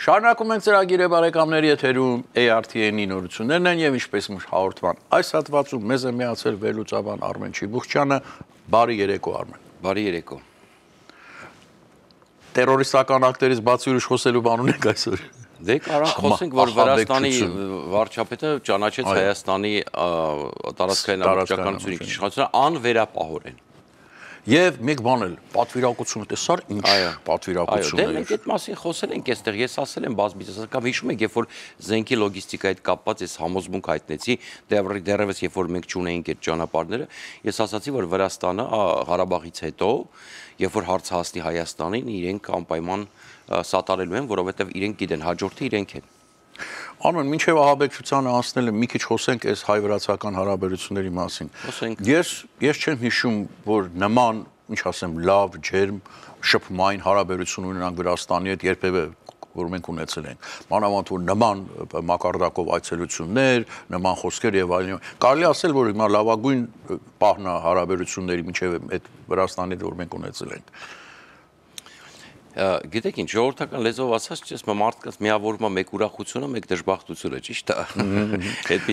Շարունակում ենք ծրագիրը բարեկամների եթերում ARTN-ի նորություններն են եւ ինչպես հաղորդման այս հատվածում մեզ է միացել վերլուծաբան Արմեն Չիբուխչյանը։ Բարի երեկո Արմեն։ Բարի երեկո։ Տերորիստական ակտերից բացի ուրիշ խոսելու բան ունենք այսօր։ Դե կարանք խոսենք, որ Վրաստանի վարչապետը ճանաչեց Հայաստանի տարածքային ամբողջականությունների իշխանությունը անվերապահորեն։ Եվ մեկ բան էլ, պատվիրակությունը տեսար ինչ պատվիրակություն է։ Դե մենք այդ մասին խոսել ենք այստեղ, ես ասել եմ բազմիցս, կամ հիշում եք, երբ որ զենքի լոգիստիկայի հետ կապված ես համոզմունք հայտնեցի, դեռևս երբ որ մենք չունեինք այդ ճանապարհները, ես ասացի, որ Վրաստանը Ղարաբաղից հետո, երբ որ հարցը հասնի Հայաստանին, իրենք անպայման սատարելու են, որովհետև իրենք գիտեն, հաջորդը իրենք են։ Արմեն, մինչև ահաբեկչությանը անցնելը մի քիչ խոսենք այս հայ-վրացական հարաբերությունների մասին։ Ես չեմ հիշում, որ նման, ինչ ասեմ, լավ, ջերմ, շփումային հարաբերություն ունենանք Վրաստանի հետ երբևէ, որ մենք ունեցել ենք։ Մանավանդ որ նման մակարդակով այցելություններ, նման խոսքեր եւ այլն։ Կարելի ասել, որ հիմա լավագույն պահն է հարաբերությունների մինչև այդ Վրաստանի հետ, որ մենք ունեցել ենք։ Գիտեք ինչ, ժողովրդական լեզվով ասած, ես մարդկանց միավորում մեկ ուրախությունը, մեկ դժբախտությունը, ճիշտ է։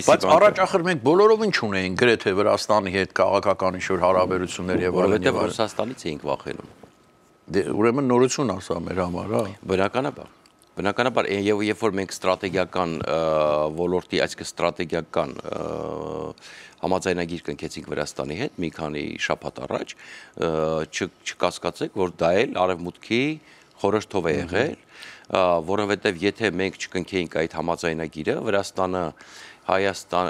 Բայց առաջ ախր մենք բոլորովին չունեինք գրեթե Վրաստանի հետ քաղաքական ինչ-որ հարաբերություններ եւ այլն։ Որովհետեւ Ռուսաստանից էինք վախենում։ Դե ուրեմն նորություն ասա մեր համար, հա։ Բնականաբար, եւ երբ որ մենք ստրատեգիական ոլորտի, այսինքն ստրատեգիական համաձայնագիր կնքեցինք Վրաստանի հետ մի քանի շաբաթ առաջ, չկասկածեք, որ դա էլ արևմուտքի խորհրդով է եղել, որովհետև եթե մենք չկնքեինք այդ համաձայնագիրը, Վրաստանը Հայաստան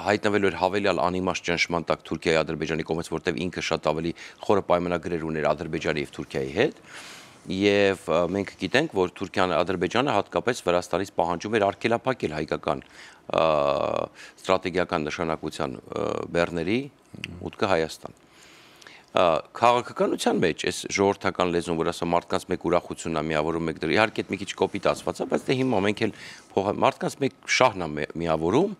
հայտնվելու էր հավելյալ անիմաստ ճնշման տակ Թուրքիայի, Ադրբեջանի կողմից, որտեղ ինքը շատ ավելի խորը պայմանագրեր ուներ Ադրբեջանի եւ Թուրքիայի հետ, եւ մենք գիտենք, որ Թուրքիան, Ադրբեջանը հատկապես Վրաստանից պահանջում էր արգելափակել հայկական ստրատեգիական նշանակության բեռների մուտքը Հայաստան։ Քաղաքականության մեջ այս ժողովրդական լեզուն, որ ասա մարդկանց մեկ ուրախությունն է միավորում, մեկ դր իհարկե մի քիչ կոպիտ ասված է, բայց դե հիմա մենք էլ մարդկանց մեկ շահն է միավորում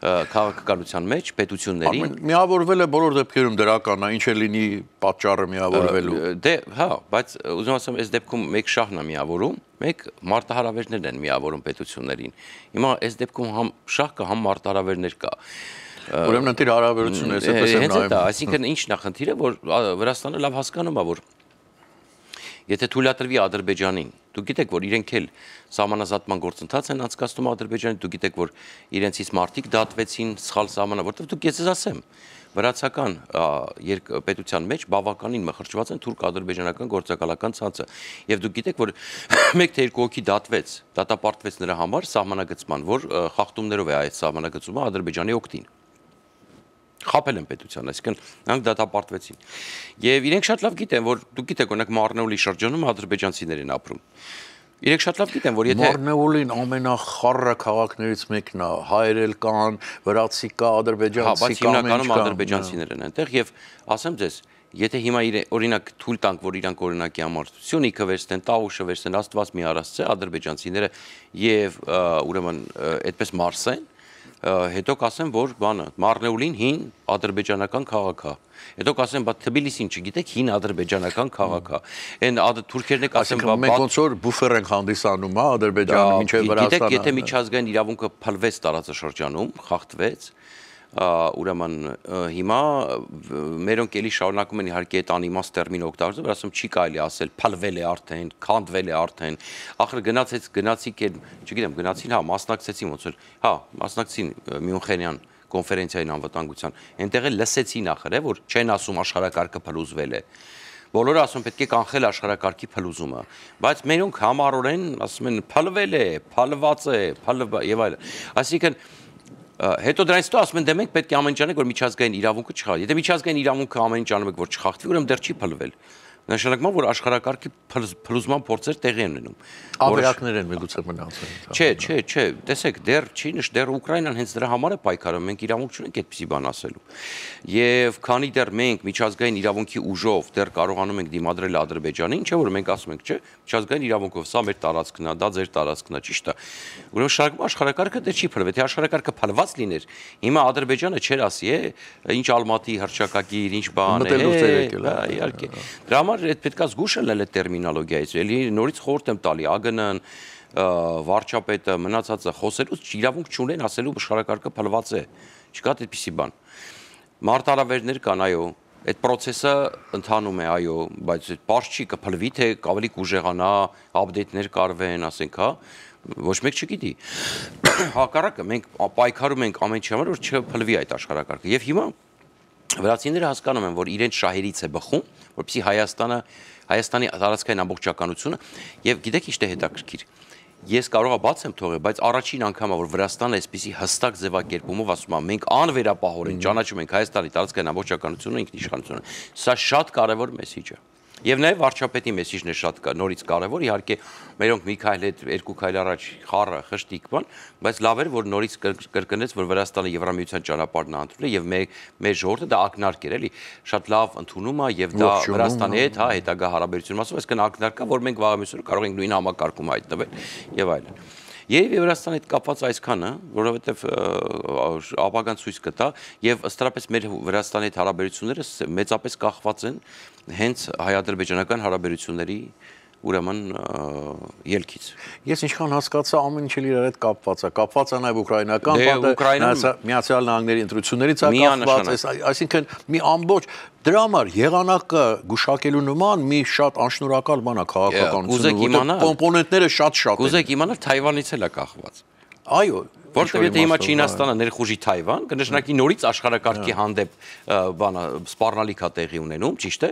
քաղաքականության մեջ պետություններին։ Միավորվել է բոլոր դեպքերում դրական է, ինչ է լինի պատճառը միավորվելու։ Դե, հա, բայց ուզում ասեմ, այս դեպքում մեկ շահն է միավորում, մեկ մարտահրավերներն են միավորում պետություններին։ Հիմա այս դեպքում համ շահ կա, համ մարտահրավերներ կա։ Ուրեմն ընտիր հարաբերությունն է, այսպես եմ նայում։ Այսինքն ինչն է խնդիրը, որ Վրաստանը լավ հասկանում է, որ եթե թույլատրվի Ադրբեջանին, դուք գիտեք, որ իրենք էլ սահմանազատման գործընթաց են անցկացնում Ադրբեջանի, դուք գիտեք, որ իրենցից մարդիկ դատվեցին սխալ սահմանա, որտեղ դուք ես ասեմ, վրացական պետության մեջ բավականին մխրճված են թուրք-ադրբեջանական գործակալական ցանցը, եւ դուք գիտեք, որ մեկ թե երկու հոգի դատվեց, դատապարտվեց նրա համար սահմանագծման, որ խախտումներով է այդ սահմանագծումը Ադրբեջանի օգտին։ Խապել են պետության, այսինքն նրանք դատապարտվեցին։ Եվ իրենք շատ լավ գիտեն, որ դուք գիտեք, օրինակ Մարնեուլի շրջանում ադրբեջանցիներ են ապրում։ Իրենք շատ լավ գիտեն, որ եթե Մարնեուլին ամենախառը քաղաքներից մեկն է, հայերել կան, վրացի կա, ադրբեջանցի կա, բայց հիմնականում ադրբեջանցիներ են այնտեղ եւ ասեմ ձեզ, եթե հիմա օրինակ թույլ տանք, որ իրանք օրինակի համար Սյունիքը վերցնեն, Տավուշը վերցնեն, Աստված մի առասցե ադրբեջանցիները եւ ուրեմն այդպես մարսեն, հետո կասեմ, որ բանը Մարնեուլին հին ադրբեջանական քաղաք է։ Հետո կասեմ, բա Թբիլիսին չգիտեք, հին ադրբեջանական քաղաք է։ Այն թուրքերն է կասեմ, բա մենք ոնց որ բուֆեր ենք հանդիսանում, հա, Ադրբեջանը մինչև Վրաստանը։ Գիտեք, եթե միջազգային իրավունքը փլվեց տարածաշրջանում, խախտվեց, ուրեմն հիմա մերոնք էլի շարունակում են իհարկե այդ անիմաստ տերմին օգտագործել, որ ասում չի կարելի ասել փլվել է արդեն, քանդվել է արդեն։ Ախր գնացիք են, չգիտեմ, գնացին, հա, մասնակցեցին ոնց որ, հա, մասնակցին Մյունխենյան կոնֆերենցիային անվտանգության։ Այնտեղ էլ լսեցին ախր, որ չեն ասում աշխարհակարգը փլուզվել է։ Բոլորը ասում պետք է կանխել աշխարհակարգի փլուզումը, բայց մերոնք համառորեն ասում են փլվել է, փլված է, եւ այլն։ Այսինքն հետո դրանից հետո ասում են դե մենք պետք է ամեն ինչ անենք, որ միջազգային իրավունքը չխախտվի։ Եթե միջազգային իրավունքը ամեն ինչ անում եք, որ չխախտվի, ուրեմն դեռ չի փլվել։ Նշանակում է, որ աշխարհակարգի փլուզման փորձեր տեղի են ունենում։ Ավերակներ են միգուցե մնացել։ Չէ, տեսեք, դեռ Ուկրաինան հենց դրա համար է պայքարում, մենք իրավունք չունենք այդպիսի բան ասելու։ Եվ քանի դեռ մենք միջազգային իրավունքի ուժով դեռ կարողանում ենք դիմադրել Ադրբեջանին, չէ՞ որ մենք ասում ենք, չէ, միջազգային իրավունքով սա մեր տարածքն է, դա ձեր տարածքն է, ճիշտ է։ Ուրեմն շարունակում աշխարհակարգը դեռ չի փլվել, թե աշխարհակարգը փլված լիներ, հիմա Ադրբեջանը չէր ասի, ինչ Ալմատի հռչակագիր, ինչ բան է, իհարկե։ Դրա համար իրար այդ պետքա զգուշ լինել այդ տերմինոլոգիայից, էլի նորից խորհուրդ եմ տալի, ԱԳՆ-ն, վարչապետը, մնացածը խոսելուց իրավունք չունեն ասելու աշխարհակարգը փլված է, չկա այդպիսի բան։ Մարտահրավերներ կան, այո, այդ process-ը ընթանում է, այո, բայց այդ պարզ չի կփլվի, թե ավելի կուժեղանա, update-ներ կարվեն, ասենք, հա, ոչ մեկ չգիտի։ Հակառակը մենք պայքարում ենք ամեն ինչի համար, որ չփլվի այդ աշխարհակարգը։ Եվ հիմա վրացիները հասկանում են, որ իրենց շահերից է բխում, որպեսզի Հայաստանի տարածքային ամբողջականությունը, եւ գիտեք ինչ է հետաքրքիր։ Ես կարող եմ բաց եմ թողել, բայց առաջին անգամը որ Վրաստանը այսպիսի հստակ ձևակերպումով ասում է, մենք անվերապահորեն ճանաչում ենք Հայաստանի տարածքային ամբողջականությունը, ինքնիշխանությունը։ Սա շատ կարևոր մեսիջ է։ Եվ նաև վարչապետի մեսիջն է շատ նորից կարևոր, իհարկե մերոնք մի քայլ հետ երկու քայլ առաջ խառը խշտիկ բան, բայց լավ էր որ նորից կրկնեց որ Վրաստանը Եվրամիության ճանապարհն է ընտրել եւ մեր ժողովուրդը դա ակնարկ էր էլի, շատ լավ ընդունում է եւ դա Վրաստանի հետ հա հետագա հարաբերությունում ասում, այսինքն ակնարկա որ մենք վաղամիսօր կարող ենք նույն համակարգում հայտնվել եւ այլն։ Եվ Վրաստանի հետ կապված այսքանը, որովհետև ապագան ցույց կտա եւ ըստրապես մեր Վրաստանի հետ հարաբերությունները մեծապես կախված են հենց հայ-ադրբեջանական հարաբերությունների ուրեմն ելքից։ Ես ինչքան հասկացա ամեն ինչ իրար հետ կապված է նաև ուկրաինական բանը, Միացյալ Նահանգների ընտրություններից է կապված, այսինքն մի ամբողջ դրա համար եղանակը գուշակելու նման մի շատ անշնորհակալ բան է քաղաքականությունը, կոմպոնենտները շատ են։ Կուզեք իմանալ Թայվանից էլ է կախված։ Այո, որտեղ եթե հիմա Չինաստանը ներխուժի Թայվան, կնշանակի նորից աշխարհակարգի հանդեպ բանը սպառնալիք է տեղի ունենում, ճիշտ է։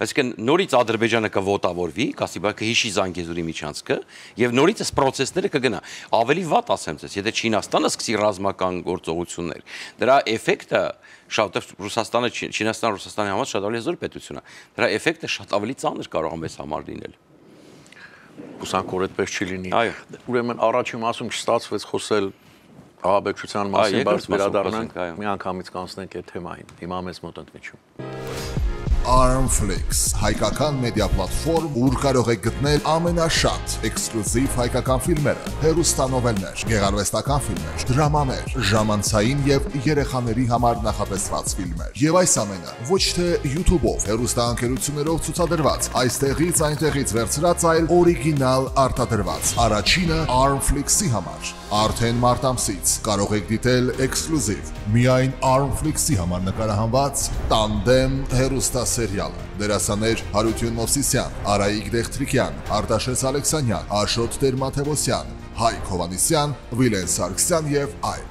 Այսինքն նորից Ադրբեջանը կվոտավորվի, կասի բա կհիշի Զանգեզուրի միջանցքը, եւ նորից այս process-ները կգնա։ Ավելի վատ ասեմ ձեզ, եթե Չինաստանը սկսի ռազմական գործողություններ, դրա էֆեկտը շատ Ռուսաստանը, Չինաստանը Ռուսաստանի համար շատ ավելի հզոր պետություն է։ Դրա էֆեկտը շատ ավելի ծանր կարող է մեզ համար լինել։ Հուսանք որ այդպես չի լինի։ Ուրեմն առաջին մասում չստացվեց խոսել ահաբեկչության մասին, բայց վերադառնանք մի անգամից կանցնենք այդ թեմային։ Հիմա մեզ մոտ ընդմիջում։ Armflix, հայկական մեդիա պլատֆորմ, ուր կարող եք գտնել ամենաշատ էքսկլյուզիվ հայկական ֆիլմերը, հեռուստանովելներ, գեղարվեստական ֆիլմեր, դրամաներ, ժամանցային եւ երեխաների համար նախատեսված ֆիլմեր։ Եվ այս ամենը ոչ թե YouTube-ով, հեռուստաընկերություններով ցուցադրված, այստեղից այնտեղից վերցրած, այլ օրիգինալ արտադրված։ Առաջինը Armflix-ի համար։ Արդեն մարտ ամսից կարող եք դիտել էքսկլյուզիվ միայն Armflix-ի համար նկարահանված Տանդեմ հեռուստասերիալը։ Դերասաններ Հարություն Մովսիսյան, Արայիկ Դեղտրիկյան, Արտաշես Ալեքսանյան, Աշոտ Տեր-Մաթևոսյան, Հայկ Հովանիսյան, Վիլեն Սարգսյան եւ այլ։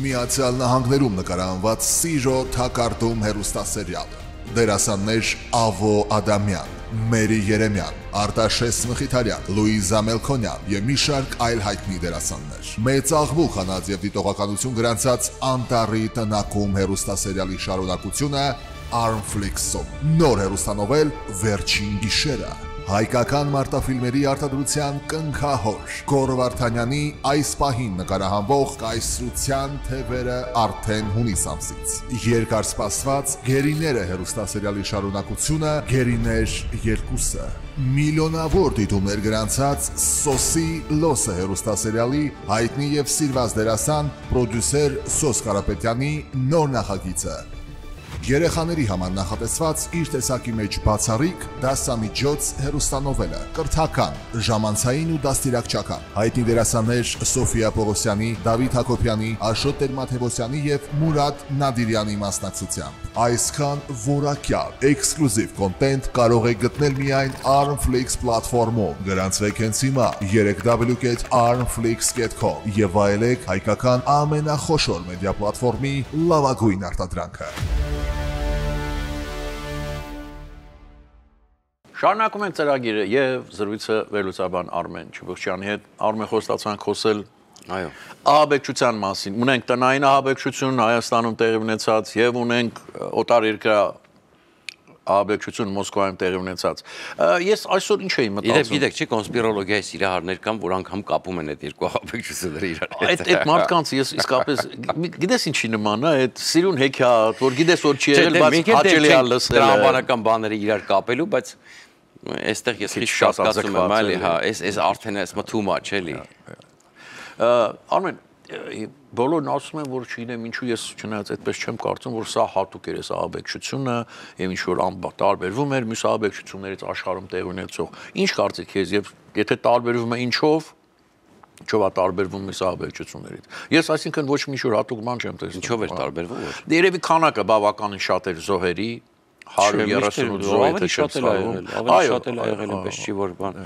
Միացյալ Նահանգներում նկարահանված Սիրո թակարդում հեռուստասերիալը։ Դերասաններ Ավո Ադամյան, Մերի Երեմյան, Արտաշես Մխիթարյան, Լուիզա Մելքոնյան եւ մի շարք այլ հայտնի դերասաններ։ Մեծ աղմուկ հանած եւ դիտողականություն գրանցած Անտարի տնակում հեռուստասերիալի շարունակությունը Armflix-ում։ Նոր հեռուստանովել Վերջին գիշերը։ Հայկական մարտաֆիլմերի արտադրության կնքահոր Գոռ Վարդանյանի այս պահին նկարահանվող Կայսրության թևերը արդեն հունիս ամսից։ Երկարսպասված Գերիները հեռուստասերիալի շարունակությունը Գերիներ 2-ը։ Միլիոնավոր դիտումներ գրանցած Սոսի Լոսը հեռուստասերիալի հայտնի եւ սիրված դերասան պրոդյուսեր Սոս Կարապետյանի նոր նախագիծը։ Երեխաների համար նախատեսված իր տեսակի մեջ բացառիկ դասամիջոց հեռուստանովելը, կրթական, ժամանցային ու դաստիարակչական։ Հայտնի դերասաններ Սոֆիա Պողոսյանի, Դավիթ Հակոբյանի, Աշոտ Տեր-Մաթևոսյանի եւ Մուրադ Նադիրյանի մասնակցությամբ։ Այսքան որակյալ էքսկլյուզիվ կոնտենտ կարող եք գտնել միայն Armflix պլատֆորմում։ Գրանցվեք հենց հիմա www.armflix.com եւ վայելեք հայկական ամենախոշոր մեդիա պլատֆորմի լավագույն արտադրանքը։ Շարունակում ենք ծրագիրը եւ զրույցը վերլուծաբան Արմեն Չուբուխչյանի հետ։ Արմեն, խոստացանք խոսել այո ահաբեկչության մասին։ Ունենք տնային ահաբեկչություն Հայաստանում տեղի ունեցած եւ ունենք օտարերկրյա ահաբեկչություն Մոսկվայում տեղի ունեցած։ Ես այսօր ինչ էի մտածում։ Գիտեք, չի կոնսպիրոլոգիայի սիրահարներ կան, որ անգամ կապում են այդ երկու ահաբեկչությունները իրար հետ։ Այդ մարդկանց ես իսկապես գիտես ինչի նման է, այդ սիրուն հեքիաթ, որ գիտես որ չի եղել, բայց հաճելի է լսել։ Տրամաբանական բաները իրար կապելու, բայց այստեղ ես քիչ կասկածում եմ, այլի, հա, այս արդեն էս too much էլի։ Արմեն, բոլորն ասում են, որ չգիտեմ ինչու ես չնայած այդպես չեմ կարծում, որ սա հատուկ էր այս ահաբեկչությունը եւ ինչ որ տարբերվում էր մյուս ահաբեկչություններից աշխարհում տեղ ունեցող։ Ինչ կարծիք ես եւ եթե տարբերվում է ինչով տարբերվում է ահաբեկչություններից։ Ես այսինքն ոչ մի շուտ հատուկ բան չեմ տեսնում։ Ինչով էր տարբերվում։ Երևի քանակը բավականին շատ էր զոհերի 138 զոհ ավելի շատ է եղել, ավելի շատ է եղել, այնպես չի որ բան։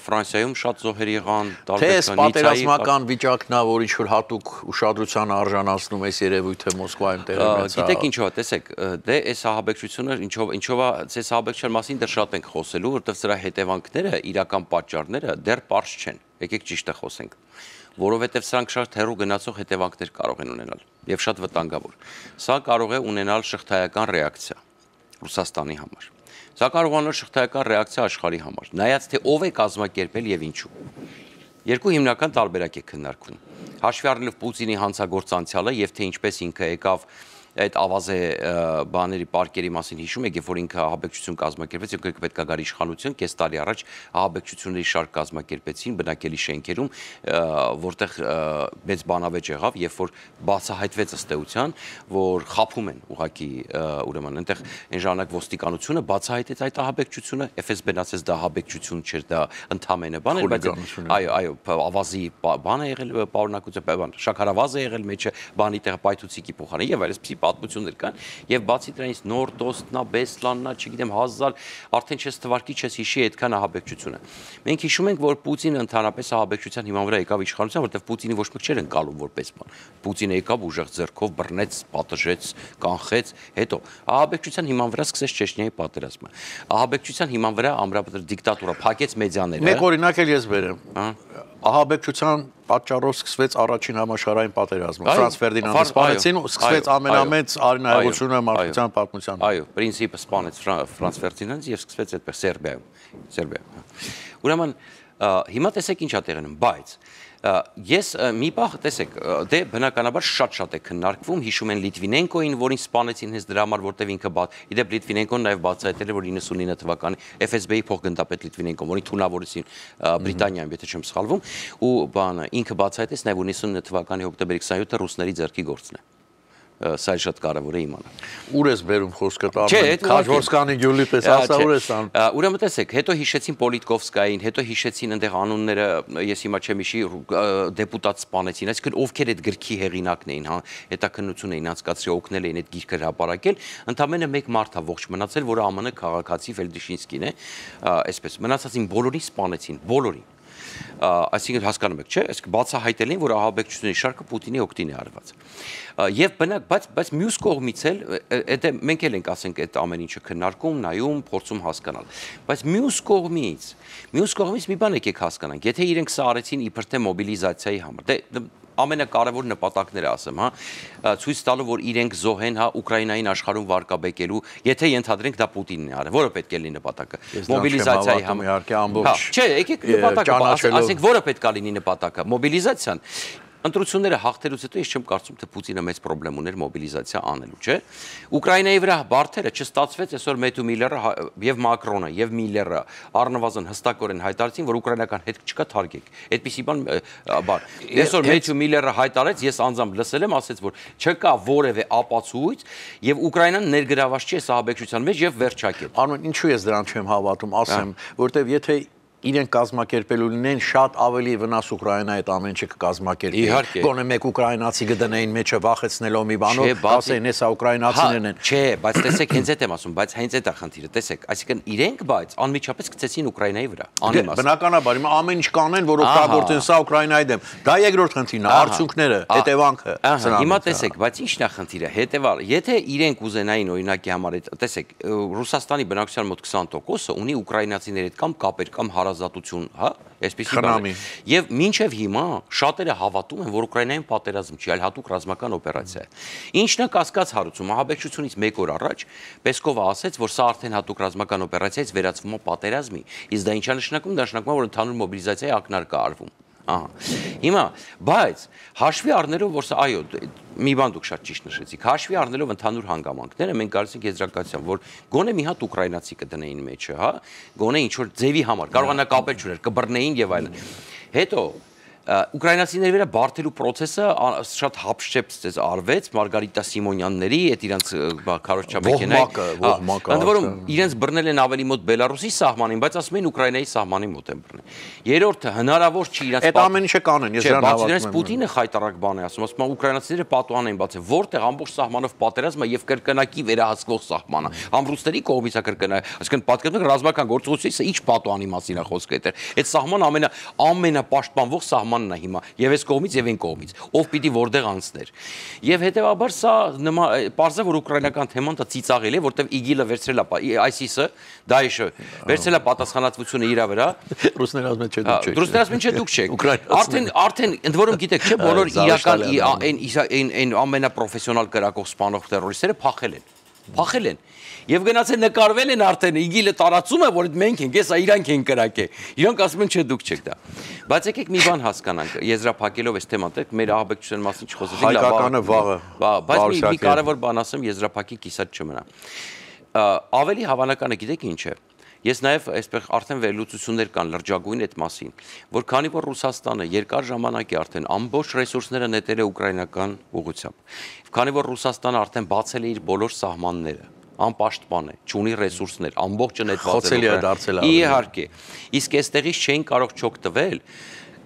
Ֆրանսիայում շատ զոհեր եղան, տարբեր պատերազմական վիճակն է, որ ինչ որ հատուկ ուշադրության արժանացնում է երևույթը Մոսկվայում տեղի ունեցավ։ Գիտեք ինչով է, տեսեք, դե այս ահաբեկչությունը ինչով է, այս ահաբեկչության մասին դեռ շատ ենք խոսելու, որովհետև սրա հետևանքները, իրական պատճառները դեռ պարզ չեն։ Եկեք ճիշտը խոսենք, որովհետև սրանք շատ հեռու գնացող հետևանքներ կարող են ունենալ եւ շատ վտանգավոր։ Սա կարող է ունենալ շղթայական ռեակցիա Ռուսաստանի համար։ Սա կարող է ունենալ շղթայական ռեակցիա աշխարհի համար։ Նայած թե ով է կազմակերպել եւ ինչու։ Երկու հիմնական տարբերակ է քննարկվում։ Հաշվի առնելով Պուտինի հանցագործ անցյալը եւ թե ինչպես ինքը եկավ այդ ավազե բաների պարկերի մասին հիշում եք, երբ որ ինքը ահաբեկչություն կազմակերպեց, ինքը պետք է գար իշխանություն, կես տարի առաջ ահաբեկչությունների շարք կազմակերպեցին բնակելի շենքերում, որտեղ մեծ բանավեճ եղավ, երբ որ բացահայտվեց ըստ էության, որ խաբում են ուղղակի ուրեմն այնտեղ այն ժամանակ ոստիկանությունը բացահայտեց այդ ահաբեկչությունը, FSB-ն ասեց դա ահաբեկչություն չէր, դա ընդամենը բան էր, բայց այո, ավազի բան է եղել, պարունակություն, շաքարավազ է եղել մեջը, բանի տեղ պայթուցիկի փոխարեն եւ այլպես պատմություններ կան եւ բացի դրանից նոր դոստնա, բեսլաննա, չգիտեմ, 1000 արդեն չես թվարկի, չես հիշի այդքան ահաբեկչությունը։ Մենք հիշում ենք, որ Պուտինը ընդհանրապես ահաբեկչության հիման վրա եկավ իշխանության, որտեղ Պուտինի ոչ մեկ չէր ընկալում որպես բան։ Պուտինը եկավ ուժեղ ձեռքով բռնեց, պատժեց, կանխեց, հետո ահաբեկչության հիման վրա սկսեց Չեչնիայի պատերազմը։ Ահաբեկչության հիման վրա ամրապնդել դիկտատուրա, փակեց մեդիաները։ Մեկ օրինակ էլ ես բերեմ։ Ահաբեկչության պատճառով սկսվեց առաջին համաշխարհային պատերազմը։ Ֆրանց Ֆերդինանդը սպանեցին ու սկսվեց ամենամեծ արինահեղությունը մարդկության պատմության։ Այո, պրինցիպը սպանեց Ֆրանց Ֆերդինանդը եւ սկսվեց այդպես Սերբիայում։ Ուրեմն հիմա տեսեք ինչ է տեղի ունենում, բայց ես մի բան տեսեք, դե բնականաբար շատ է քննարկվում, հիշում են Լիտվինենկոին, որին սպանեցին հենց դրա համար, որտեղ ինքը իդեպ Լիտվինենկոն նաև բացահայտել է, որ 99 թվականի FSB-ի փոխգնդապետ Լիտվինենկոն, որին թունավորեցին Բրիտանիայում, եթե չեմ սխալվում, ու բանը ինքը բացահայտեց նաև 99 թվականի հոկտեմբերի 27-ը ռուսների ձեռքի գործն է։ Սա շատ կարևոր է իմանալ։ Ուր ես բերում խոսքը տալու։ Քաջորսկանի գյուլի պես ասա ուր ես անում։ Ուրեմն տեսեք, հետո հիշեցին Պոլիտկովսկային, հետո հիշեցին այնտեղ անունները, ես հիմա չեմ հիշի, դեպուտատ սպանեցին, այսինքն ովքեր այդ գրքի հեղինակն էին, հա, հետաքննություն էին անցկացրել, օգնել էին այդ գիրքը հրապարակել, ընդամենը մեկ մարդ է ողջ մնացել, որը ԱՄՆ քաղաքացի Ֆելդիշինսկին է, այսպես, մնացածին բոլորին սպանեցին, բոլորին։ Այսինքն հասկանում եք, չէ՞, այսինքն բացահայտել են, որ ահաբեկչությունների շարքը Պուտինի օգտին է արված։ Եվ բնակ, բայց մյուս կողմից էլ, դա մենք էլ ենք ասենք այդ ամեն ինչը քննարկում, նայում, փորձում հասկանալ։ Բայց մյուս կողմից մի բան եկեք հասկանանք, եթե իրենք սա արեցին իբր թե մոբիլիզացիայի համար, դե ամենակարևոր նպատակները ասեմ, հա, ցույց տալու, որ իրենք զոհ են, հա, Ուկրաինային աշխարհում վարկաբեկելու, եթե ենթադրենք դա Պուտինն է արել, որը պետք է լինի նպատակը։ Մոբիլիզացիայի համար։ Իհարկե ամբողջ։ Չէ, եկեք նպատակը, ասենք, որը պետք է լինի նպատակը, մոբիլիզացիան։ Ընտրությունները հաղթելուց հետո ես չեմ կարծում, թե Պուտինը մեծ խնդրեմ ուներ մոբիլիզացիա անելու, չէ։ Ուկրաինայի վրա բարդերը չստացվեց, այսօր Մեթյու Միլլերը եւ Մակրոնը եւ Միլլերը առնվազն հստակորեն հայտարարեցին, որ ուկրաինական հետ չկա թարգեք։ Այդպիսի բան այսօր Մեթյու Միլլերը հայտարարեց, ես անձամբ լսել եմ, ասեց, որ չկա որևէ ապացույց եւ Ուկրաինան ներգրաված չի ահաբեկչության մեջ եւ վերջակետ։ Արմեն, ինչու ես դրան չեմ հավատում, ասեմ, որտեվ եթե իրենք կազմակերպելու լինեն շատ ավելի վնաս Ուկրաինայի այդ ամեն ինչը կկազմակերպի։ Գոնե մեկ ուկրաինացի գտնեին մեջը վախեցնելով մի բանով, ասեին, հեսա ուկրաինացիներն են։ Չէ, բայց տեսեք, հենց այդ եմ ասում, բայց հենց այդ է խնդիրը, տեսեք, այսինքն իրենք բայց անմիջապես գցեցին Ուկրաինայի վրա։ Բնականաբար, հիմա ամեն ինչ կանեն, որ օգտագործեն սա Ուկրաինայի դեմ։ Դա երկրորդ խնդիրն է, արդյունքները, հետևանքը։ Հիմա տեսեք, բայց ի՞նչն է խնդիրը, հետևալ, եթե իրենք ուզենային օրինակի համար, տեսեք, Ռուսաստանի բնակչության մոտ 20%-ը ունի ուկրաինացիների հետ կամ կապեր կամ հարազատություն, հա, այսպեսի բան։ Եվ մինչև հիմա շատերը հավատում են, որ Ուկրաինայում պատերազմ չի, այլ հատուկ ռազմական օպերացիա է։ Ինչն է կասկած հարուցում, ահաբեկչությունից մեկ օր առաջ Պեսկովը ասեց, որ սա արդեն հատուկ ռազմական օպերացիայից վերածվում է պատերազմի։ Իսկ դա ինչ է նշանակում, դա նշանակում է, որ ընդհանուր մոբիլիզացիայի ակնարկ է արվում։ Հիմա, բայց հաշվի առնելով, որ սա, այո, մի բան դուք շատ ճիշտ նշեցիք, հաշվի առնելով ընդհանուր հանգամանքները, մենք գալիս ենք եզրակացության, որ գոնե մի հատ ուկրաինացի կդնեին մեջը, հա, գոնե ինչ որ ձևի համար, կարող է նա կապել չուներ, կբռնեին եւ այլն։ Հետո Ուկրաինացիների վրա բարդելու process-ը շատ հապշեպ արվեց Մարգարիտա Սիմոնյանների, այդ իրանց քարոզչամեքենայի, ընդ որում իրենց բռնել են ավելի մոտ Բելարուսի սահմանին, բայց ասում են Ուկրաինայի սահմանի մոտ են բռնել։ Երրորդը հնարավոր չի իրենց այդ ամեն ինչը կանեն, ես դրան հավատում եմ։ Պուտինը խայտարակ բան է ասում է ուկրաինացիները պատուհան են բացել, որտեղ ամբողջ սահմանով պատերազմը եւ կրկնակի վերահսկվող սահմանը։ Ամրուստերի կողմից է կրկնակ, այսինքն պատկերացնեք ռազմական գործողությունից ինչ պատուհանի մասին է խոսքը այդտեղ։ Այդ սահմանը ամենապաշտպանվող սահմանն է հիմա, եւ այս կողմից եւ այն կողմից, ով պիտի որտեղ անցներ։ Եվ հետեւաբար սա պարզ է, որ ուկրաինական թեման դա ծիծաղել է, որտեղ ԻԳԻԼ-ը վերցրել է ISIS-ը, Դաեշը վերցրել է պատասխանատվությունը իր վրա։ Ռուսները ասում են չէ դուք չեք։ Ռուսները ասում են չէ դուք չեք։ Արդեն ընդ որում գիտեք, չէ, բոլոր իրական այն ամենապրոֆեսիոնալ կրակող սպանող տերորիստները փախել են։ Եվ գնացել նկարվել են արդեն ԻԳԻԼ-ը տարածում է, որ մենք ենք, հեսա իրանք են կրակել։ Իրանք ասում են չէ դուք չեք դա։ Բայց եկեք մի բան հասկանանք, եզրափակելով այս թեման, մեր ահաբեկչության մասին չխոսեցինք, հայկականը վաղը։ Բայց մի կարևոր բան ասեմ, եզրափակի կիսատ չմնա։ Ավելի հավանական է, գիտեք ինչ է։ Ես նաև այսպես արդեն վերլուծություններ կան լրջագույն այդ մասին, որ քանի որ Ռուսաստանը երկար ժամանակ է արդեն ամբողջ ռեսուրսները նետել է ուկրաինական ուղղությամբ, քանի որ Ռուսաստանը արդեն բացել է իր բոլոր սահմանները, անպաշտպան է, չունի ռեսուրսներ, ամբողջը նետված է։ Իհարկե, իսկ այստեղից չէին կարող չօգտվել։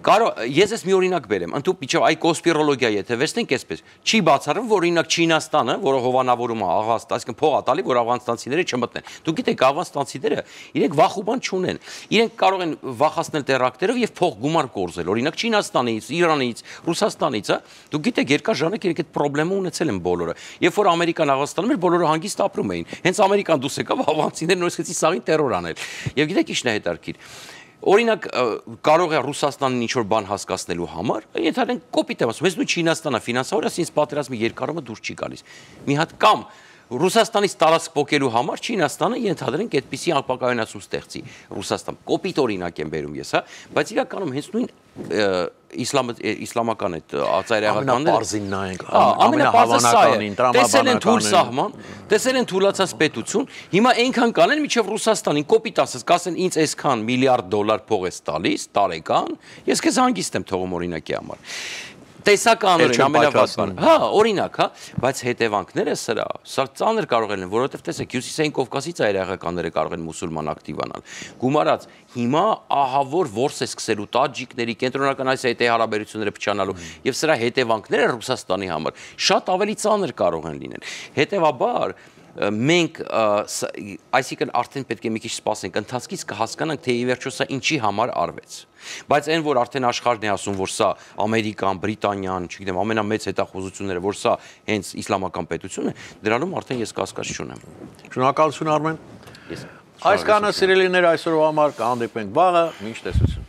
Ես ես մի օրինակ բերեմ, ընդհանուր միջև այ կոնսպիրոլոգիա եթե վերցնենք այսպես, չի բացառվում, որ օրինակ Չինաստանը, որը հովանավորում է Աղղանստան, այսինքն փող է տալի, որ աֆղանստանցիները չմտնեն։ Դուք գիտեք, աֆղանստանցիները իրենք վախ ու բան չունեն։ Իրենք կարող են վախացնել տերակտերով եւ փող գումար կորզել։ Օրինակ Չինաստանից, Իրանից, Ռուսաստանից, դուք գիտեք, երկար ժամանակ իրենք այդ խնդրեմը ունեցել են բոլորը։ Երբ որ Ամերիկան Աղղանստանում էր, բոլորը հանգիստ ապրում էին։ Հենց Ամերիկան դուրս եկավ, աֆղանցիները նույնիսկ սկսեցին սաղին տերոր անել։ Եվ գիտեք ինչն է հետարքիր։ Օրինակ կարող է Ռուսաստանին ինչ-որ բան հասկացնելու համար, ենթադրենք կոպիտ եմ ասում, ես նույն Չինաստանը ֆինանսավորած ինձ պատերազմի երկարումը դուրս չի գալիս։ Մի հատ կամ Ռուսաստանից տարածք փոկելու համար Չինաստանը ենթադրենք այդպիսի ապակայունացում ստեղծի Ռուսաստան։ Կոպիտ օրինակ եմ բերում ես, հա, բայց իրականում հենց նույն իսլամական այդ ծայրահեղականները ամենահավանականին, տրամաբանականին, տեսել են թուլացած պետություն, հիմա այնքան կանեն, մինչև Ռուսաստանին կոպիտ ասած, կասեն ինձ այսքան միլիարդ դոլար փող ես տալիս տարեկան, ես քեզ հանգիստ եմ թողում օրինակի համար։ Տեսականորեն ամենավատան։ Հա, օրինակ, հա, բայց հետևանքները սա ծանր կարող են, որովհետև տեսեք, Հյուսիսային Կովկասի ծայրահեղականները կարող են մուսուլման ակտիվանալ։ Գումարած հիմա ահավոր որս է սկսելու տաջիկների, Կենտրոնական Ասիայի հարաբերությունները փչանալու եւ սրա հետևանքները Ռուսաստանի համար շատ ավելի ծանր կարող են լինել։ Հետևաբար մենք այսինքն արդեն պետք է մի քիչ սպասենք, ընթացքից կհասկանանք, թե ի վերջո սա ինչի համար արվեց։ Բայց այն, որ արդեն աշխարհն է ասում, որ սա Ամերիկան, Բրիտանիան, չգիտեմ, ամենամեծ հետախուզությունները, որ սա հենց իսլամական պետություն է, դրանում արդեն ես կասկած չունեմ։ Շնորհակալություն Արմեն։ Այս կանը սիրելիներ այսօրվա համար կհանդիպենք վաղը, մինչ տեսություն։